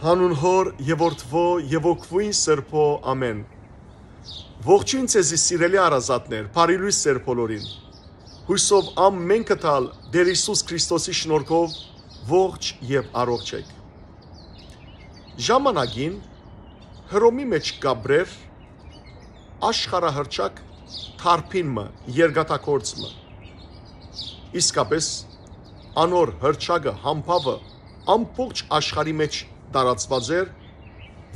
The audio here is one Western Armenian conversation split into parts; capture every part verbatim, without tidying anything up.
Հանուն Հօր եւ Որդւոյ եւ Հոգւոյն Սրբոյ, ամէն։ Ողջոյն ձեզի, սիրելի հարազատներ, բարի լոյս ձեր բոլորին։ Յուսով ամէնքը թալ Տէր Յիսուս Քրիստոսի շնորհքով ողջ եւ առողջ էք։ Ժամանակին Հռոմի մէջ կապրեր աշխարհահռչակ դարբին մը, երկաթագործ մը։ Իսկապէս անոր հռչակը, համբաւը ամբողջ աշխարհի մէջ տարածուած էր,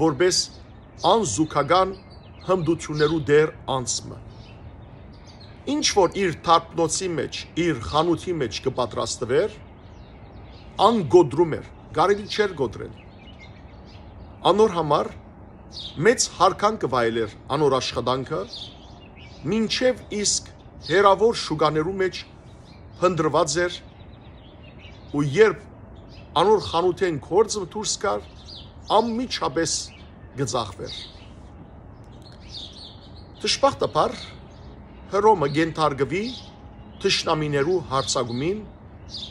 որպէս անզուգական հմտութիւններու տէր անձ մը։ Ինչ որ իր դարբնոցի մէջ, իր խանութի մէջ կը պատրաստուէր, ան կոտրում էր, կարելի չէր կոտրել։ Անոր համար մեծ յարգանքը վայելեր անոր աշխատանքը, մինչեւ իսկ հեռաւոր շուկաներու մէջ փնտռուած էր ու երբ անոր խանութէն գործ մը դուրս գար, անմիջապէս կը ծախուէր։ Դժբախտաբար Հռոմը կենթարկուի թշնամիներու յարձակումին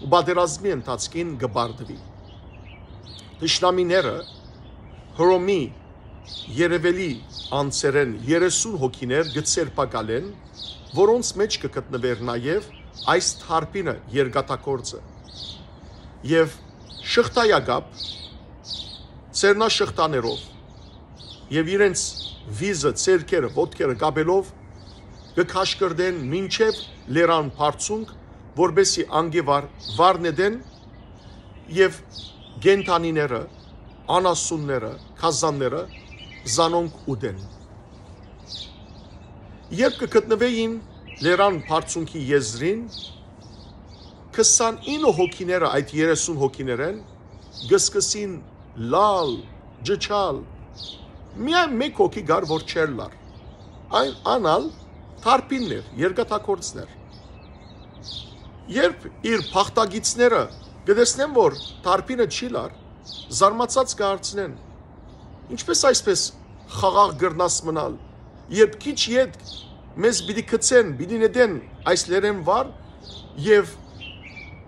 ու պատերազմի ընթացքին կը պարտուի։ Թշնամիները Հռոմի երեւելի անձերէն երեսուն հոգիներ կը ձերբակալեն, որոնց մէջ կը գտնուէր նաեւ այս դարբինը, երկաթագործը։ Եւ շղթայակապ, ձեռնաշղթաներով եւ իրենց վիզը, ձեռքերը, ոտքերը կապելով կը քաշկռտեն մինչեւ լերան բարձունք, որպէսզի անկէ վար, վար նետեն եւ կենդանիները, անասունները, գազանները զանոնք ուտեն։ Երբ կը գտնուէին լերան բարձունքի եզրին, քսանինը հոգիները այդ երեսուն հոգիներէն կը սկսին լալ, ճչալ։ Միայն մէկ հոգի կար, որ չէր լար։ Այն, ան ալ դարբինն էր, երկաթագործն էր։ Երբ իր բախտագիծները կը տեսնեն, որ դարբինը չի լար, զարմացած կը հարցնեն. «Ինչպէս այսպէս խաղաղ կրնաս մնալ, երբ քիչ ետք մեզ պիտի գցեն, պիտի նետեն այս լերէն վար եւ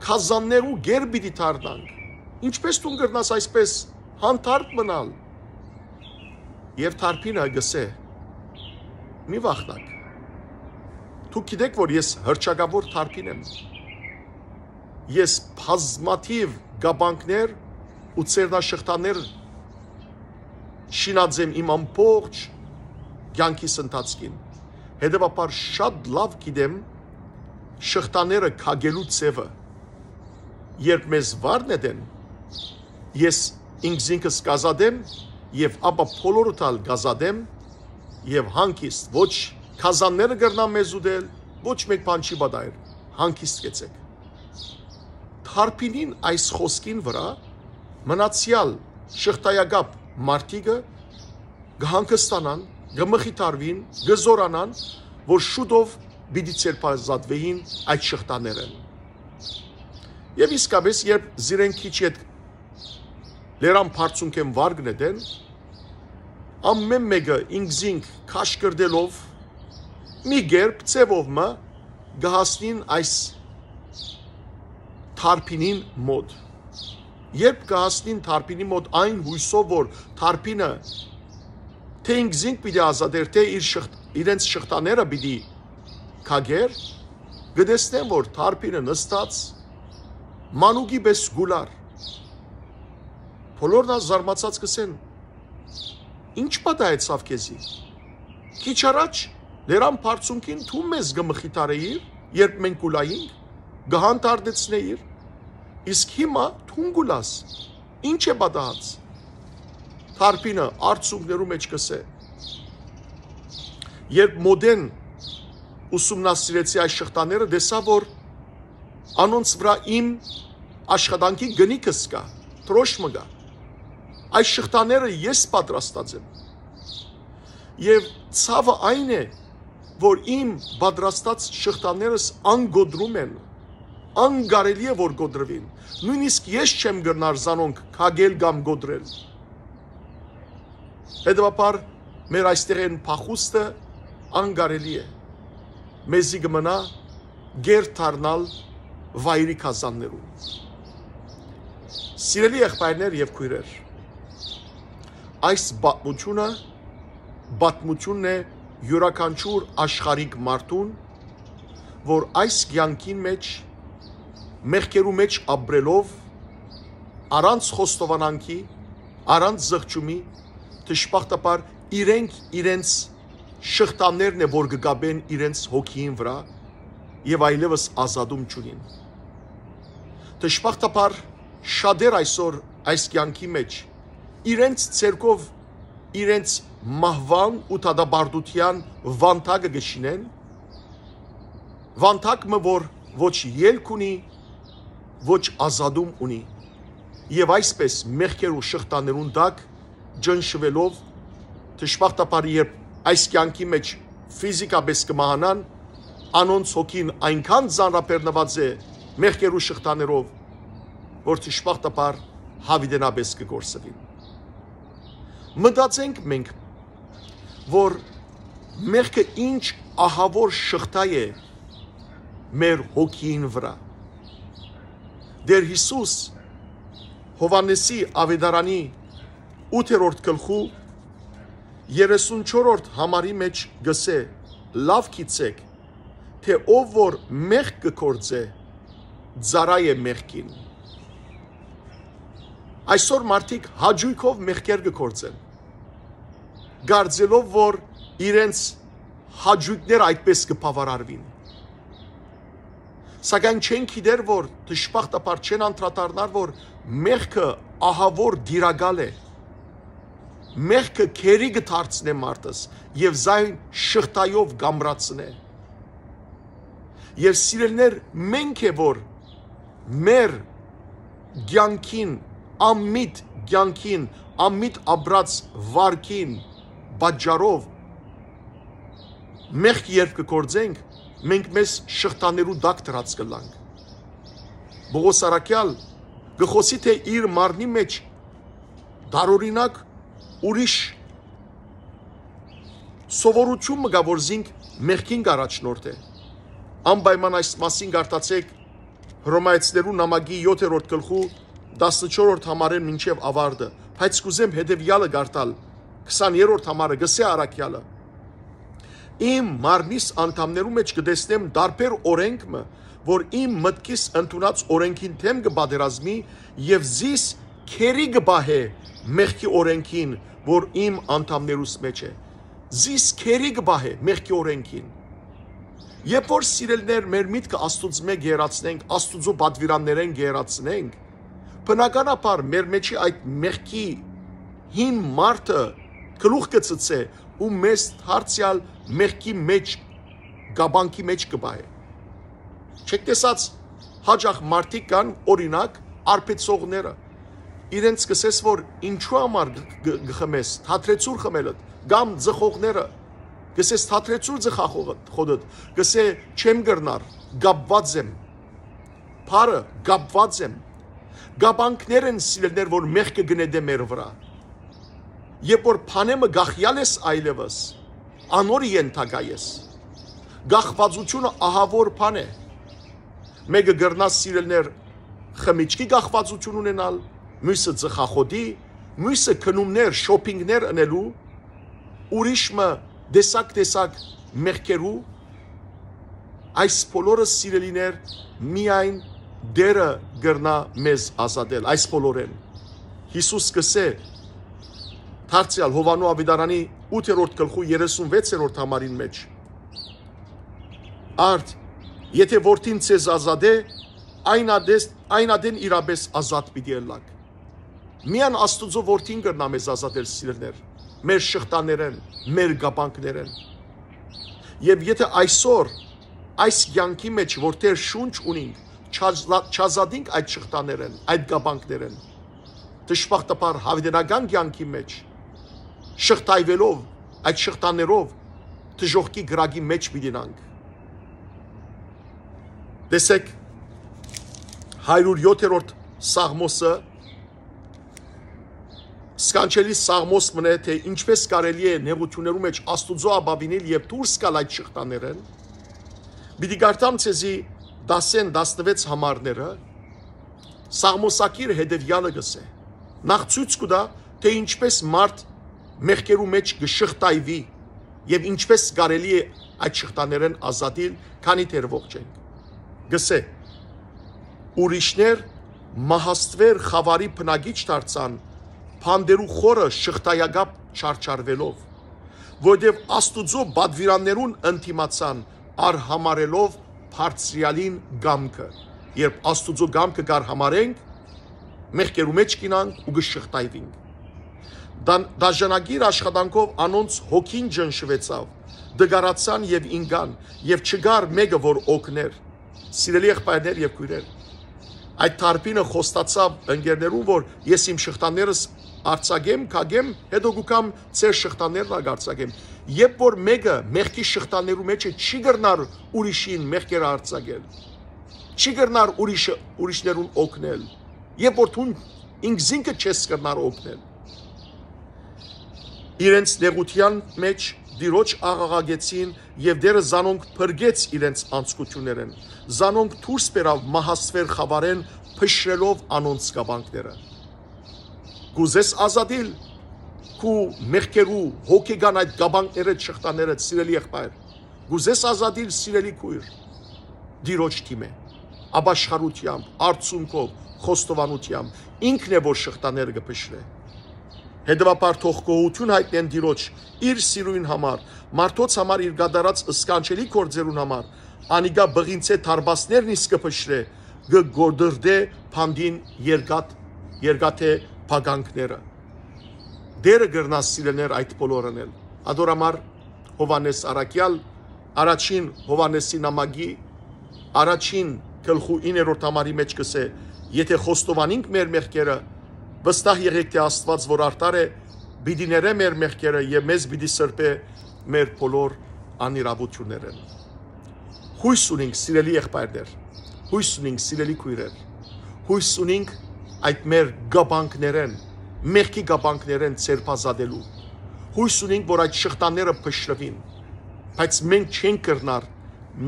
գազաններու գեր պիտի դառնանք։ Ինչպէս դուն կրնաս այսպէս հանդարտ մնալ»։ Եւ դարբինը կ'ըսէ. «Մի վախնաք։ Դուք գիտէք, որ ես հռչակաւոր դարբին եմ։ Ես բազմաթիւ կապանքներ ու ձեռնաշղթաներ շինած եմ իմ ամբողջ կեանքիս ընթացքին։ Հետեւաբար շատ լաւ գիտեմ շղթաները քակելու ձեւը։ Երբ մեզ վար նետեն, ես ինքզինքս կազատեմ եւ ապա բոլորդ ալ կազատեմ եւ հանգիստ, ոչ գազանները կրնան մեզ ուտել, ոչ մէկ բան չի պատահեր, հանգիստ կեցեք»։ Դարբինին այս խօսքին վրայ մնացեալ շղթայակապ մարդիկը կը հանգստանան, կը մխիթարուին, կը զօրանան, որ շուտով պիտի ձերբազատուէին այդ շղթաներէն։ Եւ իսկապէս, երբ զիրեն քիչ ետք լերան բարձունքէն վար կը նետեն, ամէն մէկը ինքզինք քաշկռտելով, մի կերպ, ձեւով մը կը հասնին այս դարբինին մօտ։ Երբ կը հասնին դարբինի մօտ, այն յուսով, որ դարբինը թէ ինքզինք պիտի ազատեր, թէ իր շղթ-, իրենց շղթաները պիտի քակեր, կը տեսնեն, որ դարբինը նստած մանուկի պէս կու լար։ Բոլորն ալ զարմացած կ'ըսեն. «Ի՞նչ պատահեցաւ քեզի։ Քիչ առաջ լերան բարձունքին դու մեզ կը մխիթարէիր, երբ մենք կ'ուլայինք, կը հանդարտեցնէիր, իսկ հիմա դուն կ'ուլաս։ Ի՞նչ է պատահած»։ Դարբինը արցունքներու մէջ կ'ըսէ. «Երբ մօտէն ուսումնասիրեցի այս շղթաները, տեսայ, որ անոնց վրայ իմ աշխատանքի կնիքս կայ, դրոշմը կայ։ Այս շղթաները ես պատրաստած եմ։ Եւ ցաւը այն է, որ իմ պատրաստած շղթաներս անկոտրում են, անկարելի է, որ կոտրուին։ Նոյնիսկ ես չեմ կրնար զանոնք քակել կամ կոտրել։ Հետեւաբար, մեր այստեղէն փախուստը անկարելի է։ Մեզի կը մնայ գեր դառնալ վայրի գազաններուն»։ Սիրելի եղբայրներ եւ քոյրեր, այս պատմությունը պատմությունն է յուրաքանչյուր աշխարհիկ մարդուն, որ այս կեանքին մէջ, մեղքերու մէջ ապրելով, առանց խոստովանանքի, առանց զղջումի, դժբախտաբար իրենք իրենց շղթաներն է, որ կը կապեն իրենց հոգիին վրա եւ այլեւս ազատում չունին։ Դժբախտաբար շատեր այսօր այս կեանքի մէջ իրենց ձեռքով իրենց մահուան ու դատապարտութեան վանտակը կը շինեն, վանտակ մը, որ ոչ ելք ունի, ոչ ազատում ունի, եւ այսպես մեղքերու շղթաներուն տակ ճնշուելով, դժբախտաբար երբ այս կեանքի մէջ ֆիզիկապես կը մահանան, անոնց հոգին այնքան ծանրաբեռնուած է մեղքերու շղթաներով, որ դժբախտաբար յաւիտենապէս կը կորսուին։ Մտածենք մենք, որ մեղքը ինչ ահաւոր շղթայ է մեր հոգիին վրա։ Տէր Յիսուս Յովհաննէսի Աւետարանի ութերորդ գլխու երեսունչորդ համարի մէջ կ'ըսէ. «Լաւ գիտցէք, թէ ով որ մեղք կը գործէ, ծառայ է մեղքին»։ Այսօր մարդիկ հաճոյքով մեղքեր կը գործեն, կարծելով որ իրենց հաճոյքները այդպես կը բաւարարուին։ Սակայն չեն գիտեր, որ դժբախտաբար չեն անդրադառնար, որ մեղքը ահաւոր տիրակալ է։ Մեղքը գերի կը դարձնէ մարդս եւ զայն շղթայով կ'ամրացնէ։ Եւ սիրելիներ, մենք է որ մեր կեանքին, անմիտ կեանքին, անմիտ ապրած վարքին պատճառով մեղք երբ կը գործենք, մենք մեզ շղթաներու տակ դրած կ'ըլլանք։ Պողոս առաքեալ կը խօսի, թէ իր մարմնի մէջ տարօրինակ ուրիշ սովորութիւն մը կայ, որ զինք մեղքին կ'առաջնորդէ։ Անպայման այս մասին կարդացէք Հռոմայեցիներու նամակի յոթերորդ գլխու տասնչորսերորդ համարէն մինչեւ աւարտը, բայց կ'ուզեմ հետեւեալը կարդալ, քսաներորդ համարը, կ'ըսէ առաքեալը. «Իմ մարմնիս անդամներու մէջ կը տեսնեմ տարբեր օրենք մը, որ իմ մտքիս ընդունած օրենքին դէմ կը պատերազմի եւ զիս գերի կը պահէ մեղքի օրենքին, որ իմ անդամներուս մէջ է»։ Զիս գերի կը պահէ մեղքի օրենքին։ Երբ որ, սիրելիներ, մեր միտքը Աստուծմէ կ'երացնենք, Աստուծոյ պատուիրաններէն կ'երացնենք, բնականաբար մեր մէջի այդ մեղքի հին մարդը գլուխ կը ցցէ ու մեզ դարձեալ մեղքի մէջ, կապանքի մէջ կը պահէ։ Չեք տեսած, հաճախ մարդիկ կան, օրինակ, արբեցողները։ Իրենց կ'ըսես, որ ինչու համար գ-, գ-, գ-, խմես, թատրեցուր խմելդ, կամ ձխողները, կ'ըսես, թատրեցուր ձխախոդդ, կ'ըսէ, չեմ կրնար, կապուած եմ։ Բառը կապուած եմ։ Կապանքներ են, սիրելիներ, որ մեղքը կը նետէ մեր վրա։ Երբ որ բանէ մը կախեալ ես այլեւս, անոր ենթակայ ես։ Կախվածությունը ահաւոր բան է։ Մեկը կրնա, սիրելիներ, խմիչքի կախվածութիւն ունենալ, մոյսը ձխախոդի, մոյսը գնումներ, շոփինգներ ընելու, ուրիշ մը տեսակ-տեսակ մեղքերու։ Այս բոլորը, սիրելիներ, միայն Տէրը կրնայ մեզ ազատել, այս բոլորէն։ Յիսուս կ'ըսէ, դարձեալ Յովհաննէ Աւետարանի ութերորդ գլխու երեսունվեցերորդ համարին մէջ. «Արդ, եթէ Որդին ձեզ ազատէ, այն ատես-, այն ատեն իրապէս ազատ պիտի ըլլաք»։ Միայն Աստուծոյ Որդին կրնայ մեզ ազատել, սիրելիներ, մեր շղթաներէն, մեր կապանքներէն։ Եւ եթէ այսօր այս կեանքի մէջ, որ Տէր շունչ ունինք, չազլա-, չազատինք այդ շղթաներէն, այդ կապանքներէն, դժբախտաբար, յաւիտենական կեանքի մէջ, շղթայվելով, այդ շղթաներով դժոխքի կրակի մէջ պիտի նանք։ Տեսեք, հարիւր յոթերորդ Սաղմոսը, սքանչելի Սաղմոս մնէ, թէ ինչպես կարելի է նեղութիւններու մէջ Աստուծոյ ապաւինել եւ դուրս գալ այդ շղթաներէն։ Պիտի կարդամ ձեզի դասեն տասնվեց համարները, Սաղմոսագիրը հետեւեալը կ'ըսէ. նախ ցոյց կու տայ, թէ ինչպէս մարդ մեղքերու մէջ կը շղթայուի եւ ինչպէս կարելի է այդ շղթաներէն ազատիլ, քանի դեռ ողջ ենք։ Կ'ըսէ. ուրիշներ մահաստվեր խաւարի բնակիչ դարձան, բանտերու խորը շղթայակապ չարչարուելով, որովհետեւ Աստուծոյ պատուիրաններուն ընդդիմացան, արհամարելով Բարձրեալին կամքը։ Երբ Աստուծոյ կամքը կ'արհամարենք, մեղքերու մէջ կ'ինանք ու կը շղթայվինք։ Դան-, դաժանագիր աշխատանքով անոնց հոգին ճնշուեցաւ, դգարացան եւ ինկան, եւ չկար մէկը, որ օգներ։ Սիրելի եղբայրներ եւ քոյրեր, այդ դարբինը խոստացաւ ընկերներուն, որ ես իմ շղթաներս արձակեմ, կակեմ, հետո կու կամ ձեր շղթաներն ալ կարձակեմ։ Երբ որ մէկը մեղքի շղթաներու մէջ է, չի կրնար ուրիշին մեղքերը արձակել, չի կրնար ուրիշը, ուրիշներուն օգնել, երբ որ դուն ինքզինքը չես կրնար օգնել։ Իրենց նեղութեան մէջ Տիրոջ աղաղակեցին եւ Տէրը զանոնք փրկեց իրենց անցկություններէն, զանոնք դուրս բերաւ մահաստվեր խաւարէն, փշրելով անոնց կապանքները։ Կուզես ազատիլ քու մեղքերու հոգեկան այդ կապանքներէ, շղթաներէ, սիրելի եղբայր։ Կուզես ազատիլ, սիրելի քոյր, Տիրոջ դիմէ, ապաշխարութեամբ, արցունքով, խոստովանութեամբ, ինքն է, որ շղթաները կը փշրէ։ Հետևաբար թող գոհութիւն յայտնեն Տիրոջ իր սիրոյն համար, մարդոց համար իր կատարած սքանչելի գործերուն համար, անիկա բղինցէ դարպասներն իսկ կը փշրէ, կը գորդրդէ բանտին երկաթ-, երկաթէ փականքները։ Տէրը կրնայ սիրելիներ այդ բոլորն էլ։ Ատոր համար Յովհաննէս Առաքեալ առաջին Յովհաննէսի նամակի առաջին գլխու իններորդ համարի մէջ կ'ըսէ. «Եթէ խոստովանինք մեր մեղքերը, վստահ եղէք թէ Աստուած որ արդար է, պիտի ներէ մեր մեղքերը եւ մեզ պիտի սրբէ մեր բոլոր անիրաւութիւններէն»։ Յոյս ունինք, սիրելի եղբայրներ, յոյս ունինք, սիրելի քոյրեր, յոյս ունինք այդ մեր կապանքներէն, մեղքի կապանքներէն ձերբազատելու։ Յոյս ունինք, որ այդ շղթաները փշրուին, բայց մենք չենք կրնար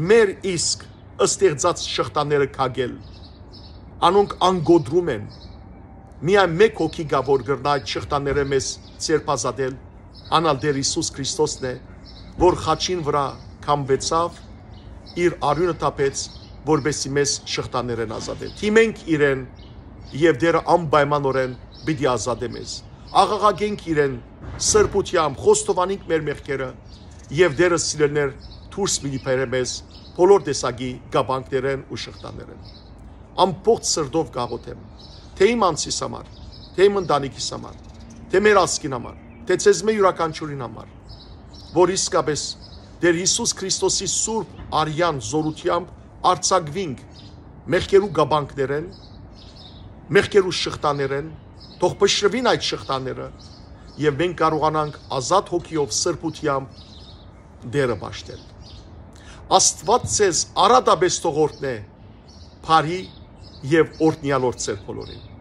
մեր իսկ ստեղծած շղթաները կակել։ Անոնք անկոտրում են։ Միայն մէկ հոգի կայ, որ կրնայ այդ շղթաները մեզ ձերբազատել, ան ալ Տէր Յիսուս Քրիստոսն է, որ խաչին վրայ քամուեցաւ, իր արիւնը թափեց, որպեսզի մեզ շղթաներէն ազատէ։ Դիմենք իրեն, եւ Տէրը անպայմանօրէն պիտի ազատէ մեզ։ Աղաղակենք իրեն սրբութեամբ, խոստովանենք մեր մեղքերը, եւ Տէրը, սիրելիներ, դուրս պիտի բերէ մեզ բոլոր տեսակի կապանքներէն ու շղթաներէն։ Ամբողջ սրտով կաղոթեմ, թէ իմ անձիս համար, թէ իմ ընտանիքիս համար, թէ մեր ազգին համար, թէ ձեզմէ իւրաքանչիւրին համար, որ իսկապէս Տէր Յիսուս Քրիստոսի սուրբ արեան զօրութեամբ արձակուինք մեղքերու կապանքներէն, մեղքերու շղթաներէն, թող փշրուին այդ շղթաները, եւ մենք կարողանանք ազատ հոգիով, սրբութեամբ Տէրը պաշտել։ Աստուած ձեզ առատապէս թող օրհնէ, բարի եւ օրհնեալ օր ձեր բոլորին։